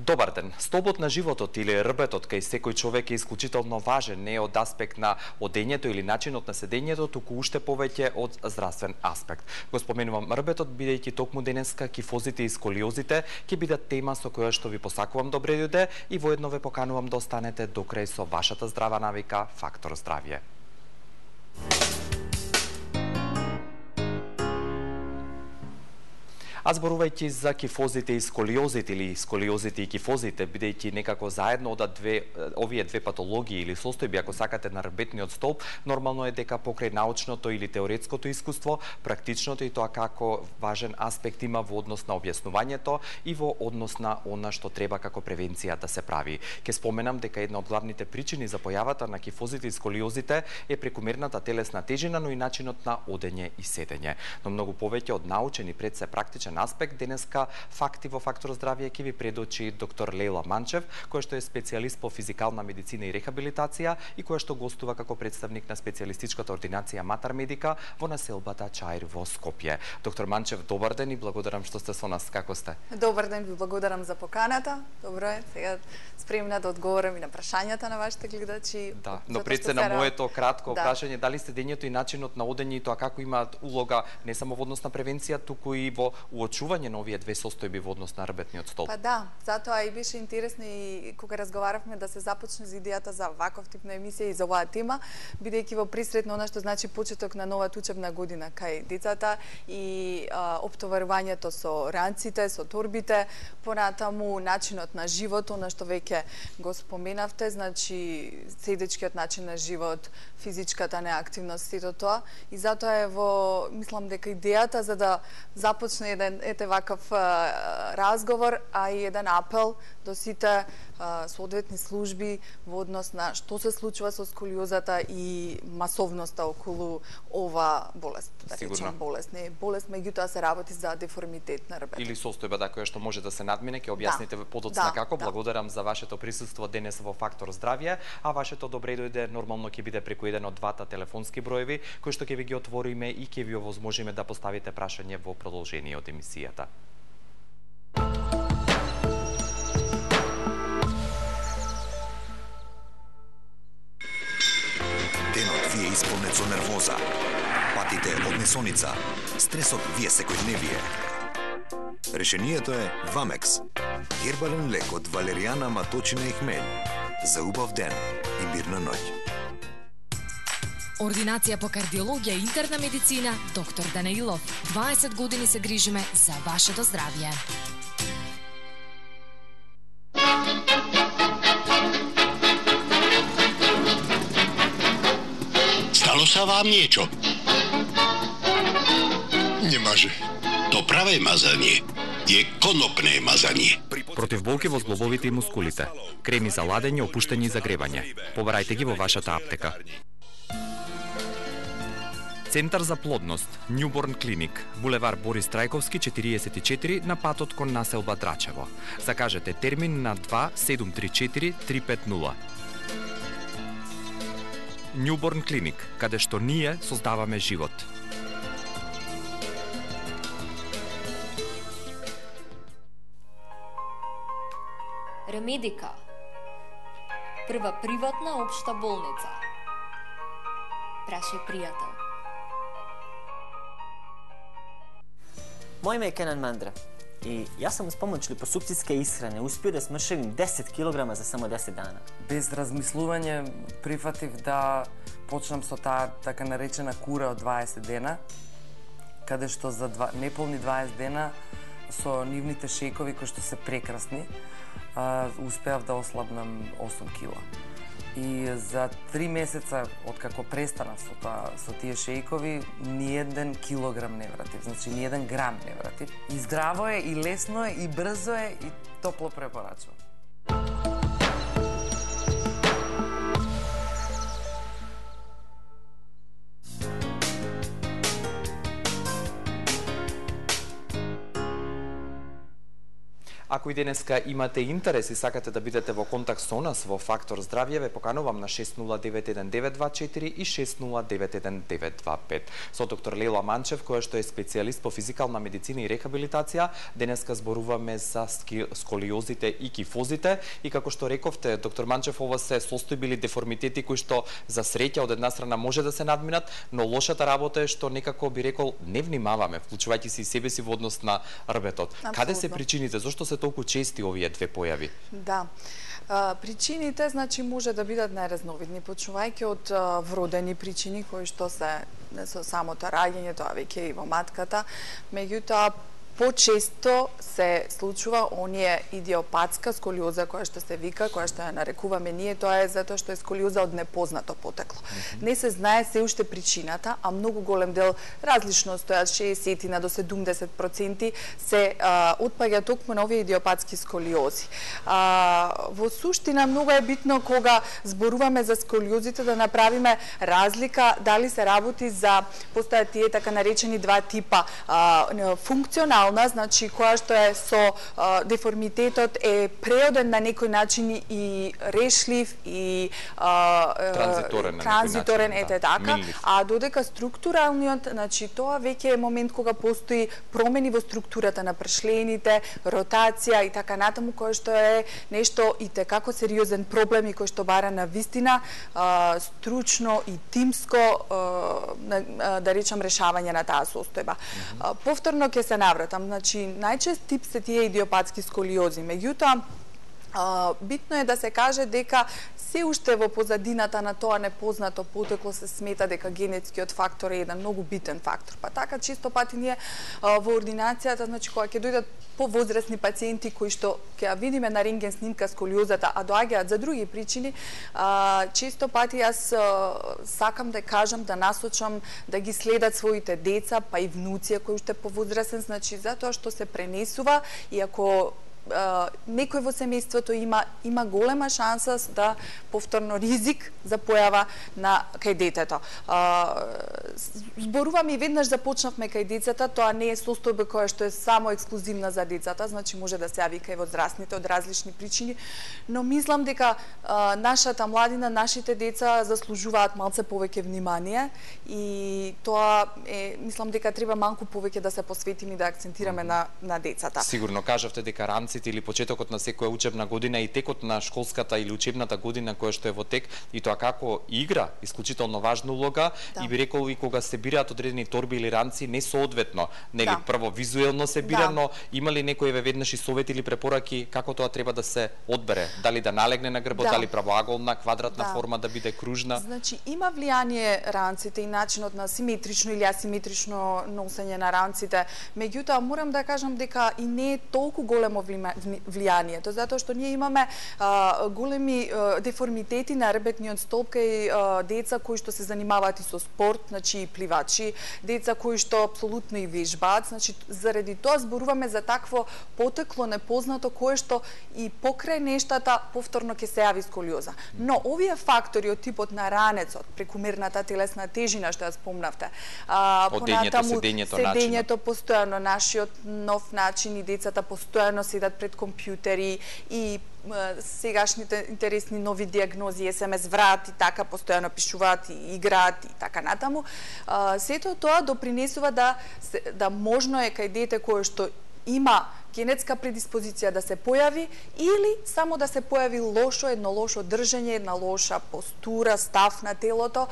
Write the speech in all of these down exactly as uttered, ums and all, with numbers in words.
Добар ден. Столбот на животот или рбетот кај секој човек е исклучително важен, не од аспект на одењето или начинот на седењето, туку уште повеќе од здравствен аспект. Го споменувам рбетот, бидејќи токму денеска кифозите и сколиозите ќе бидат тема со која што ви посакувам добре дојде и воедно ве поканувам да останете до крај со вашата здрава навика Фактор здравје. А зборувајќи за кифозите и сколиозите или сколиозите и кифозите, бидејќи некако заедно одат две овие две патологии или состојби, ако сакате, на рбетниот столб, нормално е дека покрај научното или теоретското искуство, практичното и тоа како важен аспект има во однос на објаснувањето и во однос на она што треба како превенција да се прави. Ке споменам дека една од главните причини за појавата на кифозите и сколиозите е прекумерната телесна тежина, но и начинот на одење и седење. Но многу повеќе од научен и пред се практичен аспект, денеска факти во Фактор здравје ќе ви предочи доктор Лејла Манчев, која што е специјалист по физикална медицина и рехабилитација и која што гостува како представник на специјалистичката ординација Матар Медика во населбата Чаир во Скопје. Доктор Манчев, добар ден и благодарам што сте со нас. Како сте? Добар ден, ви благодарам за поканата. Добро е, сега спремна да одговорам и на прашањата на вашите гледачи. Да, но пред се на моето кратко да. прашање, дали седењето и начинот на одење и тоа како имаат улога не само во однос на превенција, туку и во уочување на овие две состојби во однос на рбетниот столб? Па да, затоа и беше интересно и кога разговаравме да се започне за идејата за ваков тип на емисија и за оваа тема, бидејќи во присред на она што значи почеток на новата учебна година кај децата и а, оптоварувањето со ранците, со торбите, понатаму начинот на живот, она што веќе го споменавте, значи седечкиот начин на живот, физичката неактивност, сето тоа. И затоа е во, мислам дека идејата за да започне еден ете ваков а, разговор, а и еден апел до сите а, соодветни служби во однос на што се случува со сколиозата и масовноста околу ова болест. Да речем болест, не е болест, меѓутоа се работи за деформитет на рбетот. Или состојба да која што може да се надмине, ќе објасните да, подоцна да, како. Да. Благодарам за вашето присуство денес во Фактор здравје, а вашето добре дојде нормално ќе биде преку еден од двата телефонски броеви кои што ќе ви ги отвориме и ќе ви овозможиме да поставите прашање во продолжение од емисијата. Денот ви е исполнет со нервоза, патите од несоница, стресот ви е секојдневие. Решението е Вамекс, гербален лек од валеријана, маточина и хмелј, за убав ден и мирна ноќ. Ординација по кардиологија и интерна медицина, доктор Данаилов. дваесет години се грижиме за вашето здравје. Стало са вам niečo? Не може. То праве мазање е конопне мазање. Против болки во зглобовите и мускулите. Креми за ладење, опуштање и загревање. Побарајте ги во вашата аптека. Центар за плодност, Newborn Clinic, булевар Борис Трајковски четириесет и четири на патот кон населба Драчево. Закажете термин на два седум три четири три пет нула. Newborn Clinic, каде што ние создаваме живот. Ремедика, прва приватна општа болница. Прашај пријател. Мој име е Кенан Мандра и јас сум с помоќ липосукцијска исхрана успео да смршевим десет килограма за само десет дана. Без размислување прифатив да почнам со таа така наречена кура од дваесет дена, каде што за два, неполни дваесет дена со нивните шејкови кои што се прекрасни, а, успеав да ослабнам осум кила. И за три месеца откако престанав со тоа со тие шејкови, ни еден килограм не вратив, значи ни еден грам не вратив. И здраво е, и лесно е, и брзо е, и топло препорачувам. Ако и денеска имате интерес и сакате да бидете во контакт со нас во Фактор Здравје, ве поканувам на шест нула девет еден девет два четири и шест нула девет еден девет два пет. Со доктор Лела Манчев, која што е специјалист по физикална медицина и рехабилитација, денеска зборуваме за сколиозите и кифозите и како што рековте, доктор Манчев, ова се состојби или деформитети кои што за среќа од една страна може да се надминат, но лошата работа е што некако би рекол не внимаваме, вклучувајќи се и себе си во однос на рбетот. Абсолютно. Каде се причините? Зошто се толку чести овие две појави? Да. А, причините, значи, може да бидат најразновидни, почнувајќи од а, вродени причини кои што се со самото раѓање, тоа веќе и во матката, меѓутоа почесто се случува оние идиопатска сколиоза која што се вика, која што ја нарекуваме ние, тоа е затоа што е сколиоза од непознато потекло. Mm -hmm. Не се знае се уште причината, а многу голем дел, различно стојат шеесет до седумдесет проценти, се а, отпаѓа токму на овие идиопатски сколиози. А, во суштина многу е битно кога зборуваме за сколиозите да направиме разлика дали се работи за, постојат тие така наречени два типа, а, функционална, значи која што е со а, деформитетот е преоден на некој начин и решлив и а, транзиторен, транзиторен начин, ете да, така, минлив. А додека структуралниот, значи тоа веќе е момент кога постои промени во структурата на пршлените, ротација и така натаму, кој што е нешто и текако сериозен проблем и кој што бара на вистина а, стручно и тимско а, да речам решавање на таа состојба. Mm -hmm. Повторно ќе се навратам, значи најчест тип се тие идиопатски сколиози, меѓутоа А, битно е да се каже дека се уште во позадината на тоа непознато потекло се смета дека генетскиот фактор е еден многу битен фактор. Па така често пати ние а, во ординацијата, значи кога ќе дојдат повозрасни пациенти кои што ќе ја видиме на рентген снимка сколиозата, а доаѓаат за други причини, а, често пати јас а, сакам да кажам, да насочам да ги следат своите деца, па и внуци кои уште повозрасен, значи затоа што се пренесува и ако Uh, некој во семејството има има голема шанса да повторно ризик за појава на кај детето. Uh, зборувам и веднаш започнавме кај децата, тоа не е состојба која што е само ексклузивна за децата, значи може да се јави кај возрастните од различни причини, но мислам дека uh, нашата младина, нашите деца заслужуваат малце повеќе внимание и тоа е, мислам дека треба малку повеќе да се посветиме и да акцентираме на на децата. Сигурно кажавте дека ранците или почетокот на секоја учебна година и текот на школската или учебната година која што е во тек и тоа како игра исклучително важна улога, да. И би рекол и кога се бираат одредени торби или ранци не соодветно, нели, да. Прво визуелно се бира, да. Но има ли некој еве веднаш и совети или препораки како тоа треба да се одбере? Дали да налегне на грбот, да. Дали правоаголна, квадратна да. Форма да биде кружна? Значи има влијание ранците и начинот на симетрично или асиметрично носење на ранците. Меѓутоа морам да кажам дека и не е толку големо влијанието, затоа што ние имаме а, големи а, деформитети на рбетниот столб кај а, деца кои што се занимаваат и со спорт, значи и пливачи, деца кои што апсолутно и вежбаат, значи заради тоа зборуваме за такво потекло непознато кое што и покрај нештата повторно ќе се јави сколиоза. Но овие фактори од типот на ранецот, прекумерната телесна тежина што ја спомнавте, а, понатаму седењето, седењето постојано, нашиот нов начин и децата постојано седат пред компјутери и сегашните интересни нови диагнози, ес ем ес врат и така постојано пишуваат и играат и така натаму. Сето тоа допринесува да да можно е кај дете кое што има генетска предиспозиција да се појави или само да се појави лошо, едно лошо држење, една лоша постура, став на телото,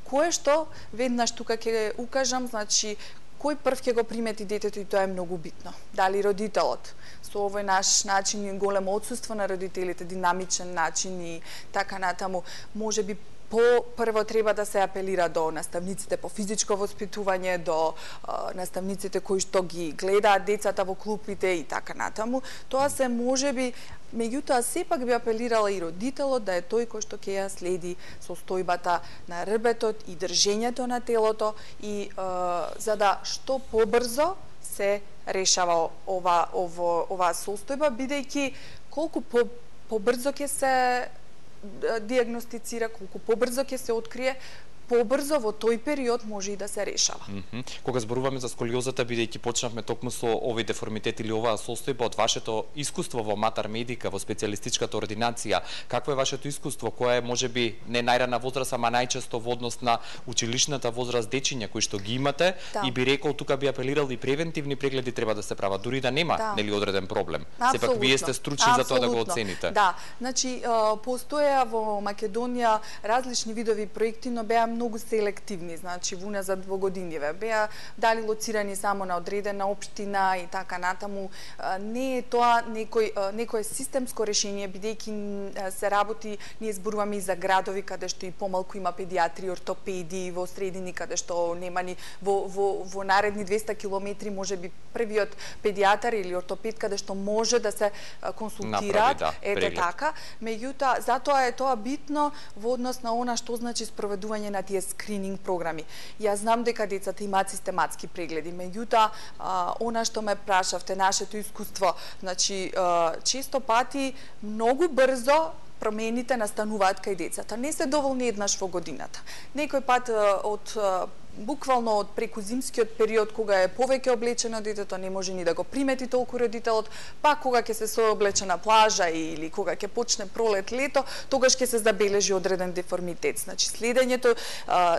кое што веднаш тука ќе укажам, значи кој прв ќе го примети детето и тоа е многу битно. Дали родителот со овој наш начин и големо отсуство на родителите, динамичен начин и така натаму, може би по прво треба да се апелира до наставниците по физичко воспитување, до а, наставниците кои што ги гледаат децата во клупите и така натаму. Тоа се можеби, меѓутоа сепак би апелирала и родителот да е тој кој што ќе ја следи состојбата на рбетот и држењето на телото и а, за да што побрзо се решава ова ово ова состојба, бидејќи колку по побрзо ќе се диагностицира, колку побрзо ќе се открие, побрзо во тој период може и да се решава. Mm -hmm. Кога зборуваме за сколиозата, бидејќи почнавме токму со овој деформитет или оваа состојба, од вашето искуство во Матар Медика, во специјалистичката ординација, какво е вашето искуство? Која е можеби не најрана возраст, ама најчесто во однос на училишната возраст дечиња кои што ги имате, да. И би рекол тука би апелирал и превентивни прегледи треба да се прават, дури да нема да. Нели одреден проблем. Абсолютно. Сепак вие сте стручни за тоа да го оцените. Да, значи постоја во Македонија различни видови проекти, но беа многу селективни, значи во уназад во годиниве. Беа дали лоцирани само на одредена општина и така натаму. Не е тоа некој некое системско решение, бидејќи се работи, ние зборуваме и за градови каде што и помалку има педиатри, ортопеди, во средини каде што нема ни во во во наредни двеста километри можеби првиот педиатар или ортопед каде што може да се консултира, да, ете преглед. така. Меѓутоа, затоа е тоа битно во однос на она што значи спроведување на тие скрининг програми. Јас знам дека децата имаат систематски прегледи, меѓутоа, она што ме прашавте, нашето искуство, значи, често пати многу брзо промените настануваат кај децата. Не се доволни еднаш во годината. Некој пат од буквално од преку зимскиот период, кога е повеќе облечено детето, не може ни да го примети толку родителот, па кога ќе се сооблече на плажа или кога ќе почне пролет, лето, тогаш ќе се забележи одреден деформитет. Значи, следењето а,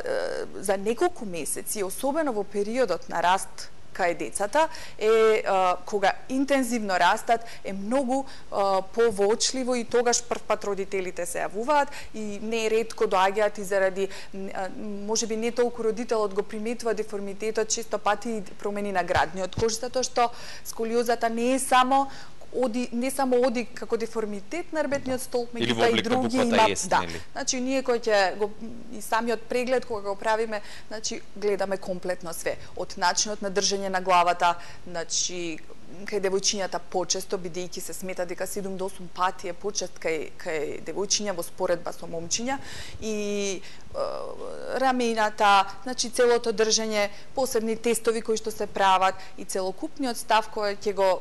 за неколку месеци, особено во периодот на раст кај децата, е а, кога интензивно растат, е многу а, повоочливо и тогаш прв пат родителите се јавуваат и не ретко доаѓаат и заради а, можеби не толку родителот го приметува деформитетот, често пати и промени на градниот кош, затоа што сколиозата не е само оди не само оди како деформитет на рбетниот столб, меѓутоа и други има, да. Значи ние кој ќе го и самиот преглед кога го правиме, значи гледаме комплетно све, од начинот на држење на главата, значи кај девојчињата почесто, бидејќи се смета дека седум до осум пати е почест кај кај девојчиња во споредба со момчиња, и е, рамената, значи целото држење, посебни тестови кои што се прават и целокупниот став кој ќе го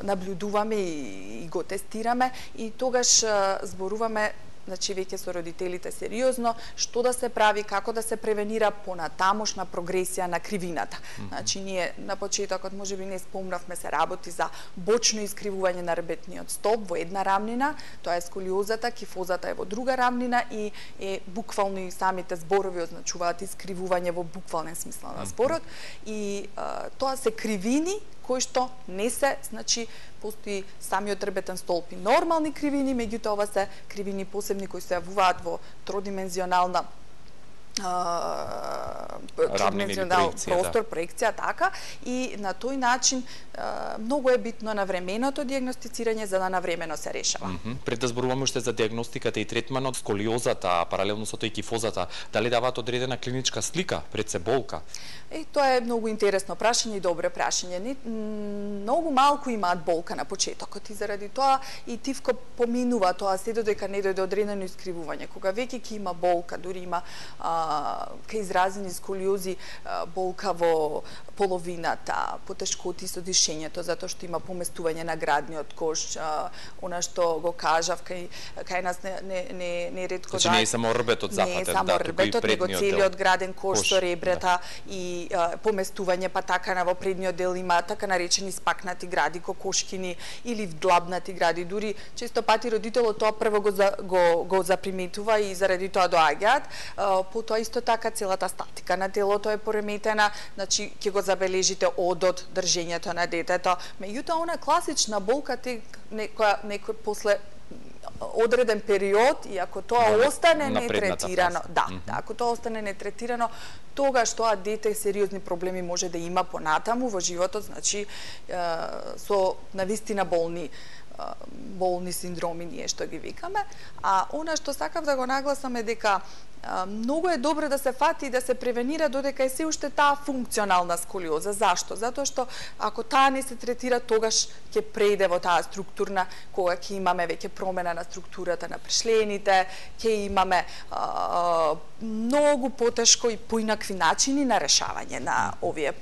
наблюдуваме и, и го тестираме, и тогаш зборуваме, значи веќе со родителите сериозно, што да се прави, како да се превенира понатамошна прогресија на кривината. Mm -hmm. Значи ние на почетокот можеби не спомнавме, се работи за бочно искривување на рбетниот столб во една рамнина, тоа е сколиозата, кифозата е во друга рамнина и е буквално и самите зборови означуваат искривување во буквален смисла на зборот, и а, тоа се кривини кои што не се, значи, постои самиот рбетен столб и нормални кривини, меѓутоа ова се кривини посебни кои се јавуваат во тродимензионална тридимензионален простор, да. Проекција, така, и на тој начин а, многу е битно навременото дијагностицирање за да навремено се решава. Mm -hmm. Пред да зборуваме уште за дијагностиката и третманот, сколиозата, паралелно со тој кифозата, дали даваат одредена клиничка слика пред се болка? Е, тоа е многу интересно прашање и добро прашање. Не, многу малку имаат болка на почетокот и заради тоа и тивко поминува тоа се додека не дојде одредено искривување. Кога веќе ќе има болка, дури има ке изразени сколиози, болка во половината, потешкоти со дишењето, затоа што има поместување на градниот кош, она што го кажав, кај, кај нас не, не, не, не ретко значи, да... не е само рбетот запатен, не е само да, рбетот, него целиот граден кош, кош со ребрата, да. И а, поместување, па така на во предниот дел има така наречени спакнати гради, кокошкини или вдлабнати гради. Дури често пати родителот тоа прво го, за, го, го заприметува и заради тоа доаѓаат. Потоа исто така целата статика на телото е пореметена, значи ќе го забележите одот, држењето на детето. Меѓутоа, она класична болка те некоја некој после одреден период, и ако тоа на, остане нетретирано, да, mm -hmm. да, ако тоа остане нетретирано, тогаш тоа дете сериозни проблеми може да има понатаму во животот, значи е, со навистина болни болни синдроми, ние што ги викаме. А она што сакав да го нагласам е дека а, многу е добро да се фати и да се превенира додека е се уште таа функционална сколиоза. Зашто? Затоа што ако таа не се третира, тогаш ќе преиде во таа структурна, кога ќе имаме веќе промена на структурата на пришлените, ќе имаме а, многу потешко и поинакви начини на решавање на овие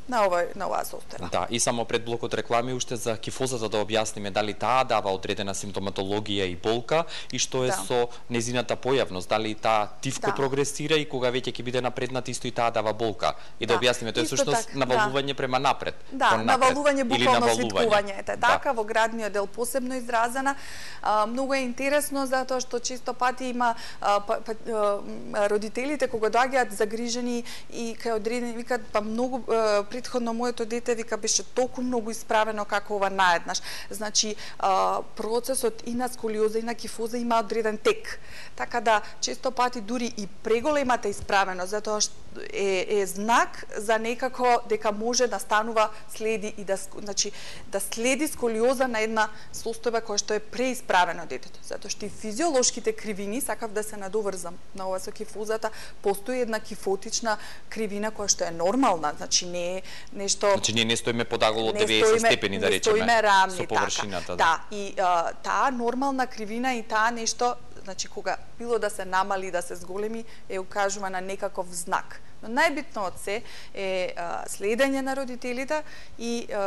на овој на оваа состојба. Да, и само пред блокот реклами уште за кифозата да објасниме дали таа дава одредена симптоматологија и болка и што е Да. со незината појавност, дали таа тивко Да. прогресира и кога веќе ќе биде напреднат исто и таа дава болка. И да, Да. објасниме, тоа е Исто всушност така, навалување према напред. Да, кон напред, навалување, или буквално навалување. свиткување. Ете, Да. така, во градниот дел посебно изразена. А, многу е интересно затоа што често пати има а, па, па, а, родителите кога доаѓаат загрижени и кај одредени викаат па многу а, претходно моето дете вика беше толку многу исправено како ова наеднаш. Значи а, процесот и на сколиоза и на кифоза има одреден тек. Така да често пати дури и преголемата исправеност затоа што е, е знак за некако дека може да станува следи и да значи да следи сколиоза на една состојба која што е преисправено детето. Затоа што и физиолошките кривини, сакав да се надоврзам на ова со кифозата, постои една кифотична кривина која што е нормална, значи не е нешто. Значи ние не стоиме подагол од не деветдесет стоиме- степени да не речеме стоиме рамни, со површината. Така. Да, и а, таа нормална кривина и таа нешто, значи кога било да се намали, да се зголеми, е укажува на некаков знак. Но најбитно од се е а, следење на родителите и а,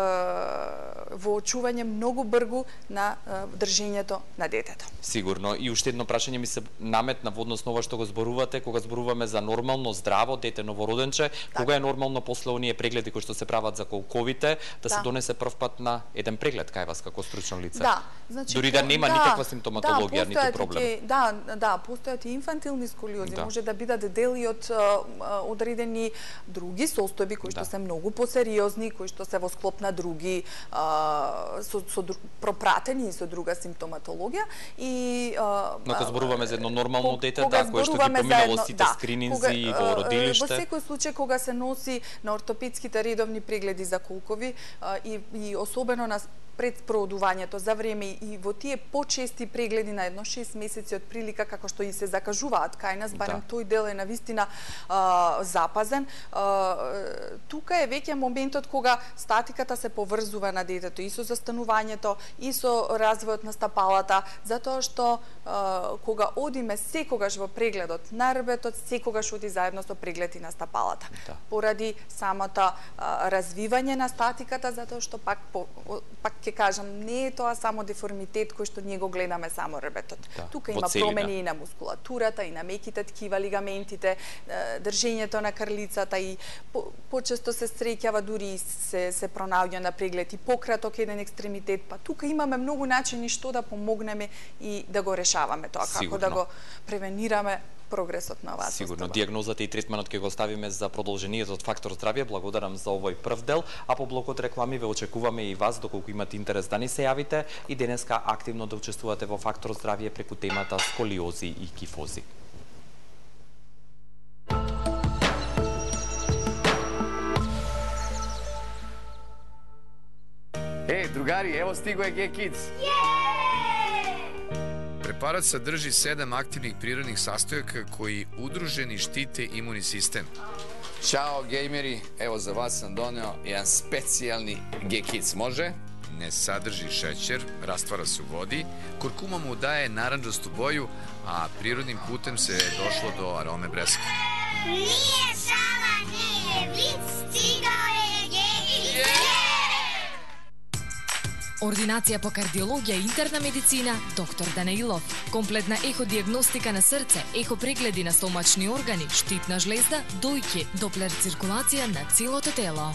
воочување многу бргу на а, држењето на детето. Сигурно. И уште едно прашање ми се наметна во однос на ова што го зборувате, кога зборуваме за нормално здраво дете новороденче, кога е нормално после оние прегледи кои што се прават за колковите, да, Да. се донесе првпат на еден преглед кај вас како стручно лице. Да, значи Дури да нема да, никаква симптоматологија, да, ниту постојат проблем. и- Да, да, постојат и инфантилни сколиози, Да. може да бидат дели од а, а, одредени други состојби кои што Да. се многу посериозни, кои што се во склоп на други а, со, со дру- пропратени и со друга симптоматологија и а, Но кога зборуваме за едно нормално Ко- дете, кога да, кое што ги зборуваме за поминало едно- сите да, скрининзи кога, и а, во Во родилиште. секој случај кога се носи на ортопедските редовни прегледи за колкови а, и, и особено на пред спроодувањето за време и во тие почести прегледи на едно шест месеци од прилика како што и се закажуваат кај нас, барем Да. тој дел е навистина а, запазен. А, тука е веќе моментот кога статиката се поврзува на детето и со застанувањето и со развојот на стапалата, затоа што а, кога одиме секогаш во прегледот на рбетот, секогаш оди заедно со преглед и на стапалата. Да. Поради самото а, развивање на статиката, затоа што пак по, о- пак ќе кажам, не е тоа само деформитет кој што ние го гледаме само рбетот. Да, Тука во има целина. промени и на мускулатурата, и на меките ткива, лигаментите, е, држењето на крлицата и по, почесто се среќава дури и се се пронаоѓа на преглед и пократок еден екстремитет, па тука имаме многу начини што да помогнеме и да го решаваме тоа, како Сигурно. да го превенираме прогресот на оваа Сигурно, состојба. дијагнозата и третманот ќе го оставиме за продолжението од Фактор здравје. Благодарам за овој прв дел, а по блокот реклами ве очекуваме и вас, доколку имате интерес да ни се јавите и денеска активно да учествувате во Фактор здравје преку темата сколиози и кифози. Е, другари, ево стиго е G-Kids. Препарат садржи седам активних природних састојака кои удружени штите имуни систем. Чао, геймери, ево за вас сам донео еден специјални G-Kids, може? Не садржи шеќер, раствара се у води, куркума му дае наранџасту боју, а природним путем се дошло до ароме бреска. Nije šala, nije vic, stigao je G-Kids. Ординација по кардиологија и интерна медицина, доктор Данаилов. Комплетна еходиагностика на срце, ехопрегледи на стомачни органи, штитна жлезда, дојки, доплер циркулација на целото тело.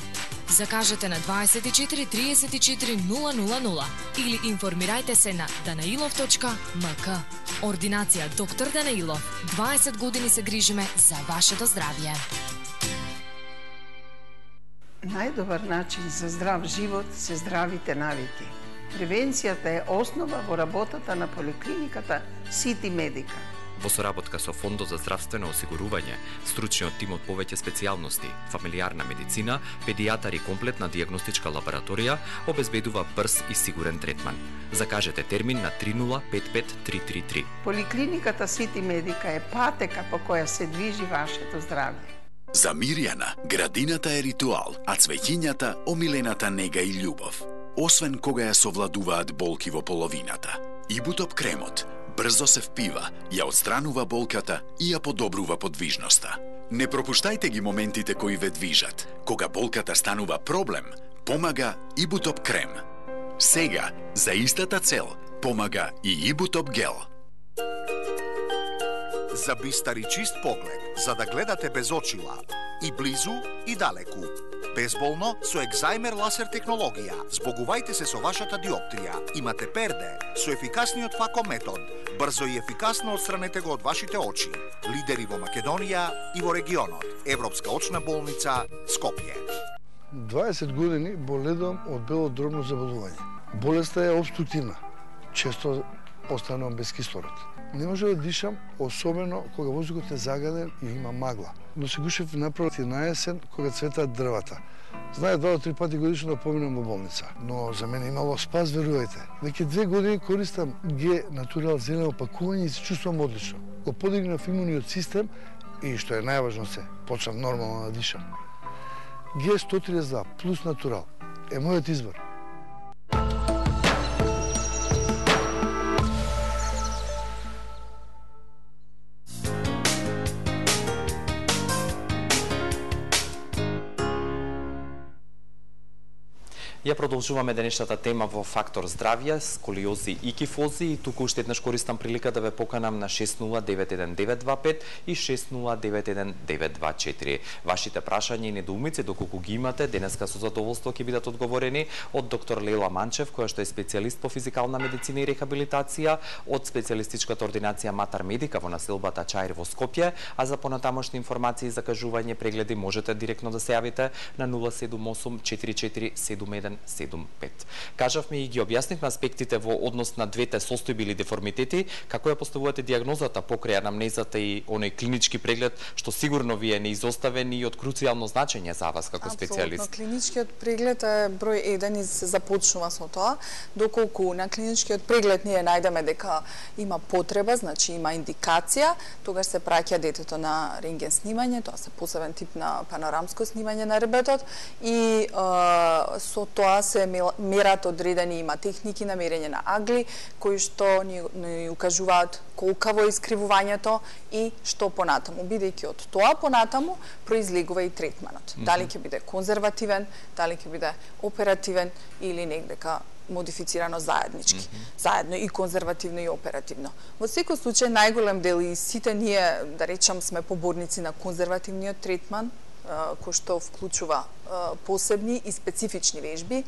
Закажете на дваесет и четири триесет и четири нула нула нула или информирајте се на данаилов точка ем ка. Ординација доктор Данаилов. дваесет години се грижиме за вашето здравје. Најдобар начин за здрав живот се здравите навики. Превенцијата е основа во работата на поликлиниката Сити Медика. Во соработка со Фондот за здравствено осигурување, стручниот тим од повеќе специјалности, фамилијарна медицина, педијатар и комплетна дијагностичка лабораторија обезбедува брз и сигурен третман. Закажете термин на три нула пет пет три три три. Поликлиниката Сити Медика е патека по која се движи вашето здравје. За Мирјана, градината е ритуал, а цвеќињата омилената нега и љубов. Освен кога ја совладуваат болки во половината. Ибутоп кремот, брзо се впива, ја отстранува болката и ја подобрува подвижноста. Не пропуштајте ги моментите кои ве движат. Кога болката станува проблем, помага Ибутоп крем. Сега, за истата цел, помага и Ибутоп гел. За бистар и чист поглед, за да гледате без очила, и близу и далеку. Безболно со екзаймер ласер технологија. Збогувајте се со вашата диоптрија. Имате перде со ефикасниот фако метод. Брзо и ефикасно отстранете го од вашите очи. Лидери во Македонија и во регионот. Европска очна болница Скопје. дваесет години боледувам од бело дробно заболување. Болеста е обструктивна. Често останувам без кислород. Не може да дишам, особено кога воздухот е загаден и има магла. Но се гушев направо на есен кога цветаат дрвата. Знае два до три пати годишно да поминам во болница. Но за мене имало спас, верувајте. Веќе две години користам Г Натурал зелено пакување и се чувствувам одлично. Го подигнав имуниот систем и што е најважно се, почнав нормално да дишам. Г сто триесет и два плюс Натурал е мојот избор. Ја продолжуваме денешната тема во Фактор здравје, сколиози и кифози, и туку уште еднаш користам прилика да ве поканам на шест нула девет еден девет два пет и шест нула девет еден девет два четири. Вашите прашања и недоумици, доколку ги имате, денеска со задоволство ќе бидат одговорени од доктор Лела Манчев, која што е специјалист по физикална медицина и рехабилитација од специјалистичката ординација Матар Медика во населбата Чаир во Скопје, а за понатамошни информации и закажување прегледи можете директно да се јавите на нула седум осум четири четири седум еден седум пет. Кажавме и ги објаснивме аспектите во однос на двете состојби или деформитети, како ја поставувате дијагнозата покрај анамнезата и оној клинички преглед, што сигурно ви е неизоставен и од круцијално значење за вас како специјалист. Апсолутно, клиничкиот преглед е број еден и се започнува со тоа, доколку на клиничкиот преглед ние најдеме дека има потреба, значи има индикација, тогаш се праќа детето на рентген снимање, тоа се посебен тип на панорамско снимање на ребетот и е, со тоа се мерат одредени, има техники на мерење на агли, кои што ни, ни укажуваат колкаво е искривувањето и што понатаму. Бидејќи од тоа понатаму произлегува и третманот. Mm -hmm. Дали ќе биде конзервативен, дали ќе биде оперативен или негдека модифицирано заеднички. Mm -hmm. Заедно и конзервативно и оперативно. Во секој случај најголем дел и сите ние, да речам, сме поборници на конзервативниот третман, кој што вклучува посебни и специфични вежби.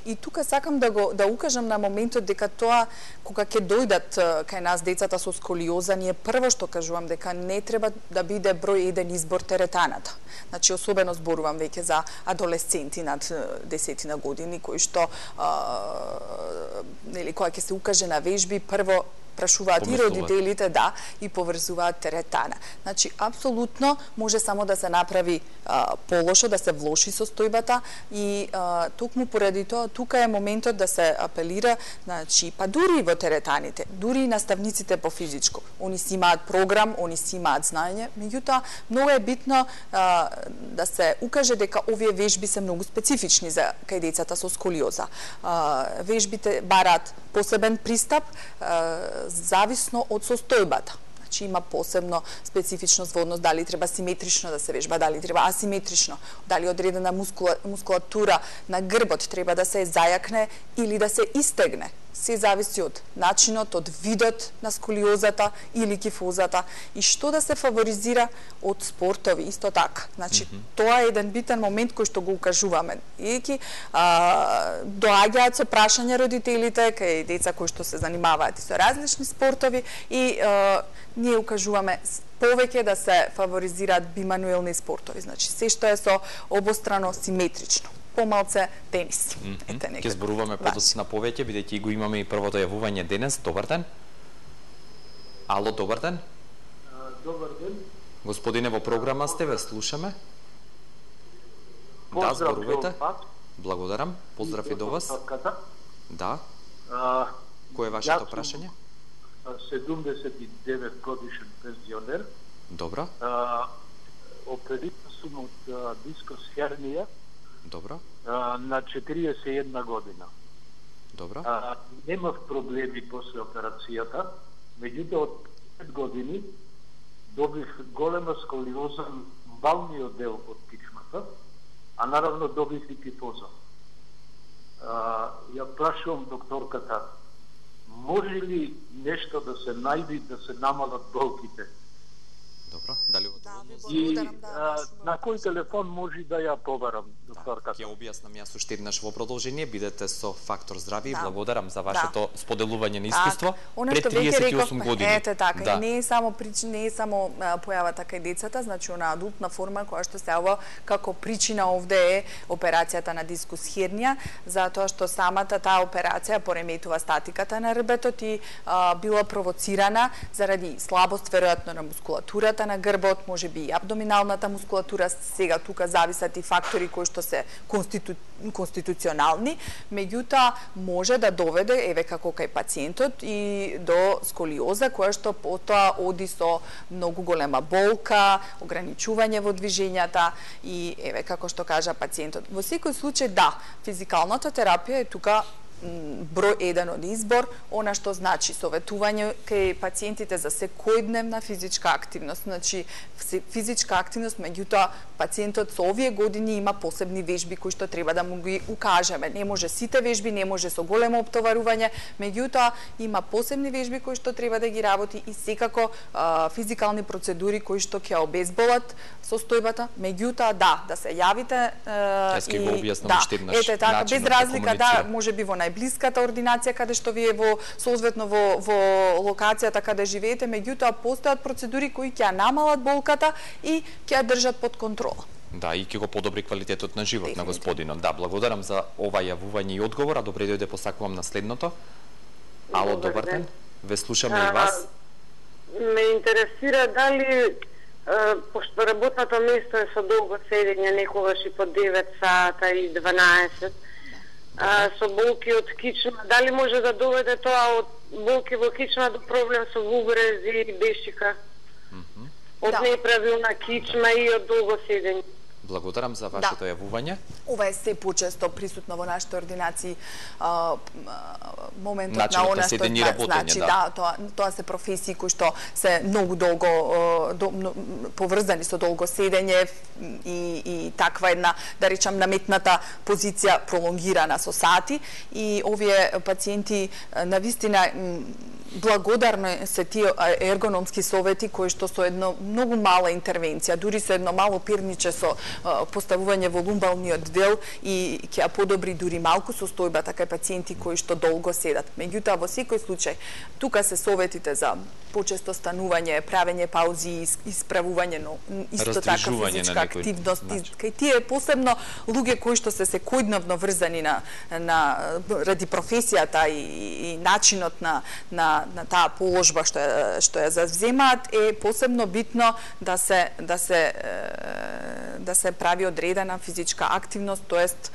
И тука сакам да го да укажам на моментот дека тоа кога ќе дојдат кај нас децата со сколиоза, ние прво што кажувам дека не треба да биде број еден избор теретаната. Значи особено зборувам веќе за адолесценти над десетина години кои што а, нели кога ќе се укаже на вежби прво прашуваат и родителите, да, и поврзуваат теретана. Значи, апсолутно може само да се направи а, полошо, да се влоши состојбата и а, токму поради тоа, тука е моментот да се апелира, значи, па дури во теретаните, дури и наставниците по физичко. Они си имаат програм, они си имаат знаење, меѓутоа, многу е битно а, да се укаже дека овие вежби се многу специфични за кај децата со сколиоза. А, вежбите бараат посебен пристап, а, зависно од состојбата. Значи има посебно специфичност во однос дали треба симетрично да се вежба, дали треба асиметрично, дали одредена мускула, мускулатура на грбот треба да се зајакне или да се истегне. Се зависи од начинот, од видот на сколиозата или кифозата и што да се фаворизира од спортови, исто така. Значи, mm -hmm. тоа е еден битен момент кој што го укажуваме. Иеки доаѓаат со прашања родителите кај деца кои што се занимаваат и со различни спортови и а, ние укажуваме повеќе да се фаворизираат бимануелни спортови. Значи, се што е со обострано симетрично. Помалце тенис. Mm -hmm. Ке зборуваме подоцна повеќе, бидејќи го имаме и првото јавување денес. Добар ден. Ало, добар ден. Uh, добар ден. Господине, во програма сте, ве слушаме. Да, зборувајте. Благодарам. Поздрав и до вас. Да. Uh, Кој е вашето прашање? седумдесет и девет годишен пензионер. Добро. Uh, опериран сум од uh, дискус хернија. Добро. Uh, на четириесет и една година. Добро. Uh, немав проблеми после операцијата, Меѓутоа, од пет години добив голема сколиоза на балниот дел од кичмата, а наравно добив и кифоза. Ја прашувам докторката, може ли нешто да се најди да се намалат болките? Добро, дали во И а, на кој телефон може да ја побарам, докторката? Ќе објаснам јас уште еднаш во продолжение, бидете со Фактор здравје и Да. благодарам за вашето Да. споделување на искуство Она пред што веќе триесет и реков, осум години. ете така, Да. и не е само причина, не е само а, појавата кај децата, значи она адултна форма која што се јавува како причина овде е операцијата на дискус хернија, затоа што самата таа операција пореметува статиката на рбетот и а, била провоцирана заради слабост веројатно на мускулатурата на грбот, можеби и абдоминалната мускулатура. Сега тука зависат и фактори кои што се конститу... конституционални, меѓутоа може да доведе, еве како кај пациентот, и до сколиоза, која што потоа оди со многу голема болка, ограничување во движењата и еве како што кажа пациентот. Во секој случај да, физикалната терапија е тука број еден од избор, она што значи советување кај пациентите за секојдневна физичка активност. Значи, физичка активност, меѓутоа, пациентот со овие години има посебни вежби кои што треба да му ги укажеме. Не може сите вежби, не може со големо оптоварување, меѓутоа, има посебни вежби кои што треба да ги работи и секако а, физикални процедури кои што ќе обезболат состојбата, меѓутоа, да, да се јавите а, Јас ќе го објаснам да, уште еднаш ете така, без начинот да разлика, да, комуницира. може би во најблиската ординација каде што вие во соодветно во во локацијата каде живеете, меѓутоа постојат процедури кои ќе ја намалат болката и ќе ја држат под контрола. Да, и ќе го подобри квалитетот на живот на господинот. Да, благодарам за ова јавување и одговор, а добре дојде посакувам на следното. Ало, добар ден. Ве слушаме и вас. Ме интересира дали пошто работното место е со долго седење, некогаш и по девет сата и дванаесет, а, со болки од кичма, дали може да доведе тоа од болки во кичма до проблем со вубрези и бешика? Од Да. неправилна кичма и од долго седење. Благодарам за вашето јавување. Ова е се почесто присутно во нашите ординации, а, моментот Начинот на на она што седење и да, работење, значи, да. да, тоа тоа се професии кои што се многу долго а, до, но, поврзани со долго седење и и таква една, да речам, наметната позиција пролонгирана со сати и овие пациенти навистина благодарни се тие ергономски совети кои што со едно многу мала интервенција, дури со едно мало пирниче со а, поставување во лумбалниот дел и ќе ја подобри дури малку состојбата кај пациенти кои што долго седат. Меѓутоа во секој случај тука се советите за почесто станување, правење паузи, исправување, но исто така физичка активност. Значи. Кај тие посебно луѓе кои што се секојдневно врзани на на ради професијата и, и начинот на на на таа положба што ја, што ја завземаат, е посебно битно да се да се да се прави одредена физичка активност, тоест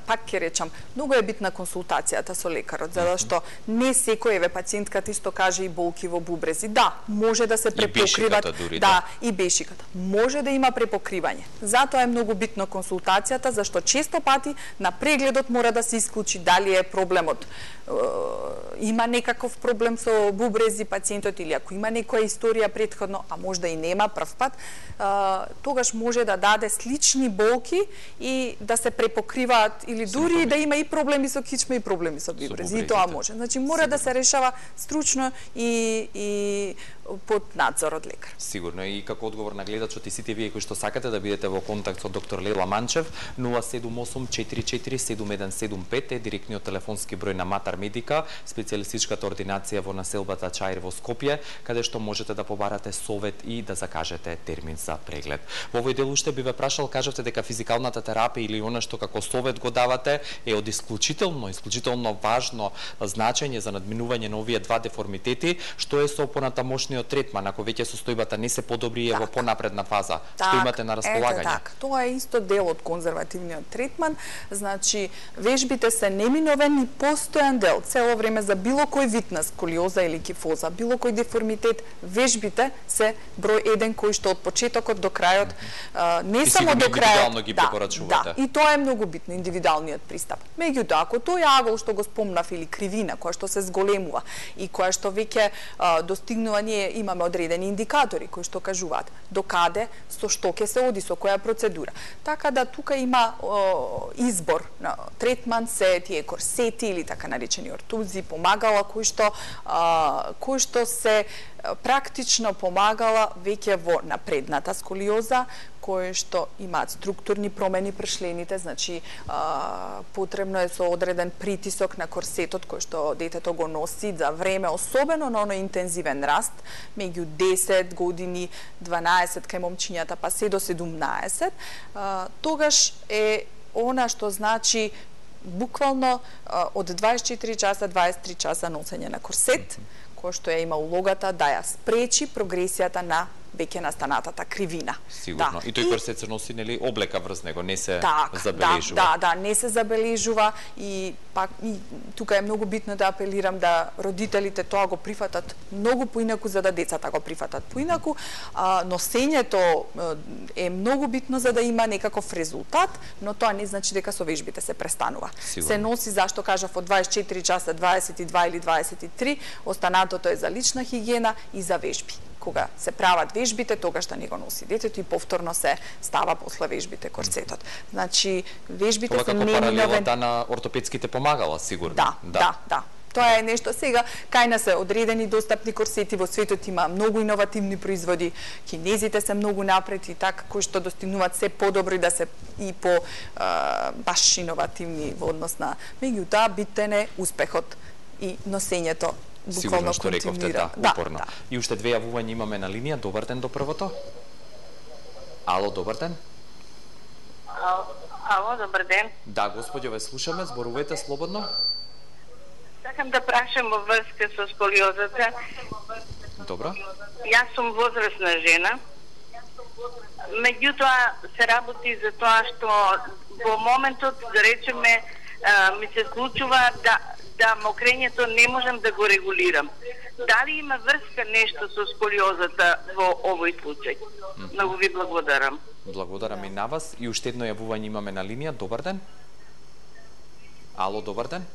пак ќе речам, многу е битна консултацијата со лекарот, затоа што не секој, еве пациентката исто каже и болки во бубрези. Да, може да се препокриват, дури, да, да, и бешиката. Може да има препокривање. Затоа е многу битно консултацијата, зашто често пати на прегледот мора да се исклучи дали е проблемот има некаков проблем со бубрези пациентот или ако има некоја историја претходно, а можда и нема прв пат, тогаш може да даде слични болки и да се препокриваат или дури да има и проблеми со кичма и проблеми со бубрези. И тоа може. Значи мора да се решава стручно и и под надзор од лекар. Сигурно и како одговор на гледачот и сите вие кои што сакате да бидете во контакт со доктор Лела Манчев, нула седум осум четири четири седум еден седум пет е директниот телефонски број на Матар Медика, специјалистичката ординација во населбата Чаир во Скопје, каде што можете да побарате совет и да закажете термин за преглед. Во овој дел уште би ве прашал, кажавте дека физикалната терапија или она што како совет го давате е од исклучително, исклучително важно значење за надминување на овие два деформитети, што е со понатамошниот третман, ако веќе состојбата не се подобри е во понапредна фаза, так, што имате на располагање? Ете така, тоа е исто дел од конзервативниот третман, значи вежбите се неминовен и постојан дел цело време за било кој вид на сколиоза или кифоза, било кој деформитет, вежбите се број еден кој што од почетокот до крајот а, не и само само до крај. Индивидуално ги препорачувате. Да, и тоа е многу битно, индивидуалниот пристап. Меѓутоа, ако тој агол што го спомнав или кривина која што се зголемува и која што веќе достигнува, ние имаме одредени индикатори кои што кажуваат до каде, со што ќе се оди, со која процедура. Така да тука има о, избор на третман, се тие корсети или така наречени ортузи, помагала кои што а, кои што се практично помагала веќе во напредната сколиоза, кои што имаат структурни промени пршлените, значи а, потребно е со одреден притисок на корсетот кој што детето го носи за време, особено на оној интензивен раст, меѓу десет години, дванаесет кај момчињата, па се до седумнаесет, а, тогаш е она што значи буквално а, од дваесет и четири часа, дваесет и три часа носење на корсет, кој што ја има улогата да ја спречи прогресијата на веќе настанатата кривина. Сигурно. Да. И тој корсет се носи, нели, облека врз него, не се так, забележува. Да, да, да, не се забележува и пак и тука е многу битно да апелирам да родителите тоа го прифатат многу поинаку за да децата го прифатат поинаку. А, носењето е многу битно за да има некаков резултат, но тоа не значи дека со вежбите се престанува. Сигурно. Се носи, зашто кажав, од дваесет и четири часа, дваесет и два или дваесет и три, останатото е за лична хигиена и за вежби. Кога се прават вежбите, тогаш да не го носи детето и повторно се става после вежбите корсетот. Значи, вежбите Тоа се како неминовен... паралелата на ортопедските помагала, сигурно. Да, да, да, да. Тоа е нешто сега, кај нас се одредени достапни корсети, во светот има многу иновативни производи, кинезите се многу напред и така, кои што достигнуваат се подобри да се и по а, баш иновативни во однос на. Меѓутоа, битен е успехот и носењето. Сигурно што рековте, да, да, упорно. Да. И уште две јавувања имаме на линија. Добар ден до првото. Ало, добар ден. Ало, добар ден. Да, господјо, ве слушаме, зборувате слободно. Сакам да прашам во врска со сколиозата. Добро. Јас сум возрастна жена. Меѓутоа се работи за тоа што во моментот, да речеме, ми се случува да да мокрењето не можам да го регулирам. Дали има врска нешто со сколиозата во овој случај? Mm-hmm. Многу ви благодарам. Благодарам и на вас. И уште едно јавување имаме на линија. Добар ден. Ало, добар ден.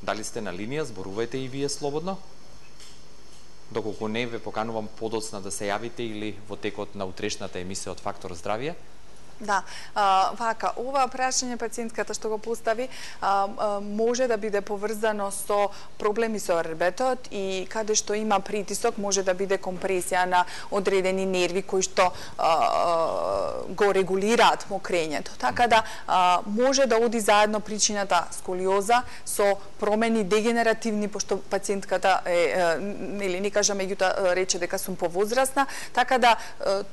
Дали сте на линија? Зборувајте и вие слободно. Доколку не, ве поканувам подоцна да се јавите или во текот на утрешната емисија од Фактор здравје. Да, а, вака, ова прашање пациентката што го постави а, а, може да биде поврзано со проблеми со ребетот и каде што има притисок може да биде компресија на одредени нерви кои што а, а, го регулираат мокрењето. Така да а, може да оди заедно причината сколиоза со промени дегенеративни, пошто пациентката е, нели не кажа, меѓутоа рече дека сум повозрасна, така да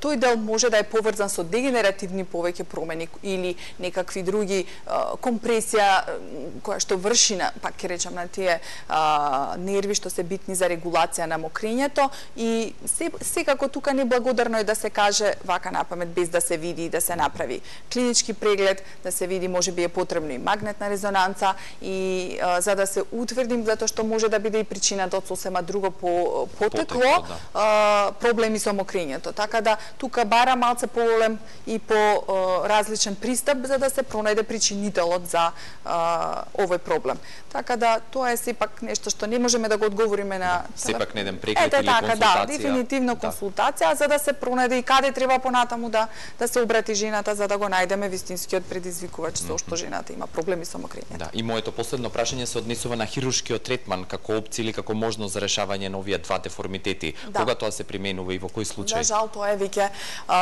тој дел може да е поврзан со дегенеративни повеќе промени или некакви други а, компресија која што врши на, пак ќе речам, на тие а, нерви што се битни за регулација на мокрењето и се, секако тука неблагодарно е да се каже вака напамет без да се види и да се направи клинички преглед, да се види можеби е потребно и магнетна резонанца и а, за да се утврдим затоа што може да биде и причината од сосема друго по потекло, потекло да. а, проблеми со мокрењето. Така да тука бара малце поголем и по различен пристап за да се пронајде причинителот за а, овој проблем. Така да тоа е сепак нешто што не можеме да го одговориме на да, сепак не еден преглед Ете, или така, консултација. Да, дефинитивно консултација да. за да се пронајде и каде треба понатаму да да се обрати жената за да го најдеме вистинскиот предизвикувач со што жената има проблеми со мокрењето. Да, и моето последно прашање се однесува на хируршкиот третман како опција или како можност за решавање на овие два деформитети. Да. Кога тоа се применува и во кој случај? Да, жал, тоа е веќе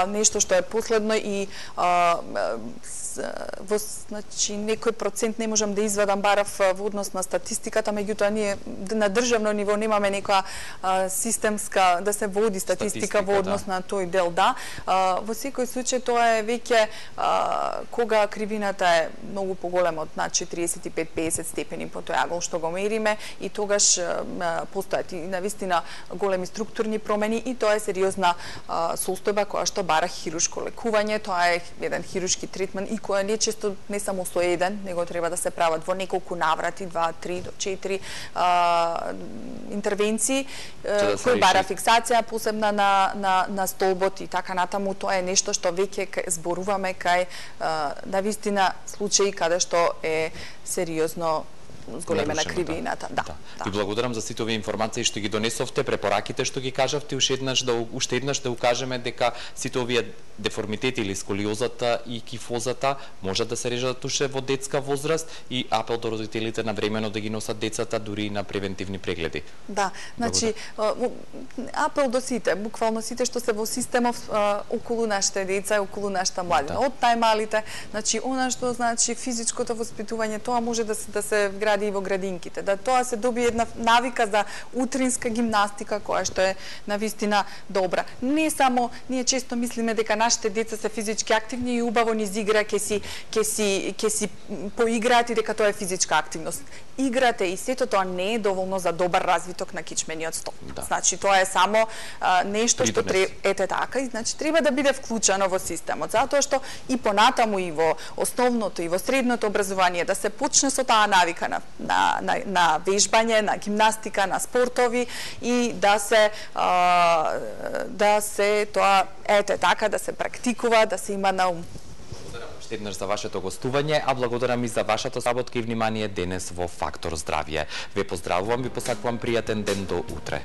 нешто што е последно и а, во значи некој процент не можам да извадам барав во однос на статистиката, меѓутоа ние на државно ниво немаме некоја а, системска да се води статистика, статистика во однос да. на тој дел, да. А, во секој случај тоа е веќе а, кога кривината е многу поголема од над четириесет и пет до пеесет степени по тој агол што го мериме и тогаш а, постојат и навистина големи структурни промени и тоа е сериозна а, состојба која што бара хируршко лекување, тоа е е еден хируршки третман и која не често не само со еден, него треба да се прават во неколку наврати, два, три до четири а, интервенции, да кои бара фиксација посебна на, на, на столбот и така натаму. Тоа е нешто што веќе зборуваме кај на вистина случаи каде што е сериозно зголемена кривината. Да. Да. Да. Ви благодарам за сите овие информации што ги донесовте, препораките што ги кажавте, уште еднаш да уште еднаш да укажеме дека сите овие деформитети или сколиозата и кифозата можат да се режат уште во детска возраст и апел до родителите на времено да ги носат децата дури и на превентивни прегледи. Да, значи апел до сите, буквално сите што се во системов околу нашите деца, околу нашата младина, да. Од најмалите, значи она што значи физичкото воспитување, тоа може да се да се вгради и во градинките, да тоа се добие една навика за утринска гимнастика која што е навистина добра. Не само ние често мислиме дека нашите деца се физички активни и убаво низ игра ќе си ќе си ќе си поиграат и дека тоа е физичка активност. Играте и сето тоа не е доволно за добар развиток на кичмениот стол. Да. Значи тоа е само а, нешто што треба ете така и значи треба да биде вклучено во системот, затоа што и понатаму и во основното и во средното образование да се почне со таа навика на на на, на вежбање, на гимнастика, на спортови и да се а, да се тоа ете така да се практикува, да се има на ум. Еднаш за вашето гостување, а благодарам и за вашата саботка и внимание денес во Фактор здравје. Ве поздравувам, ви посакувам пријатен ден до утре.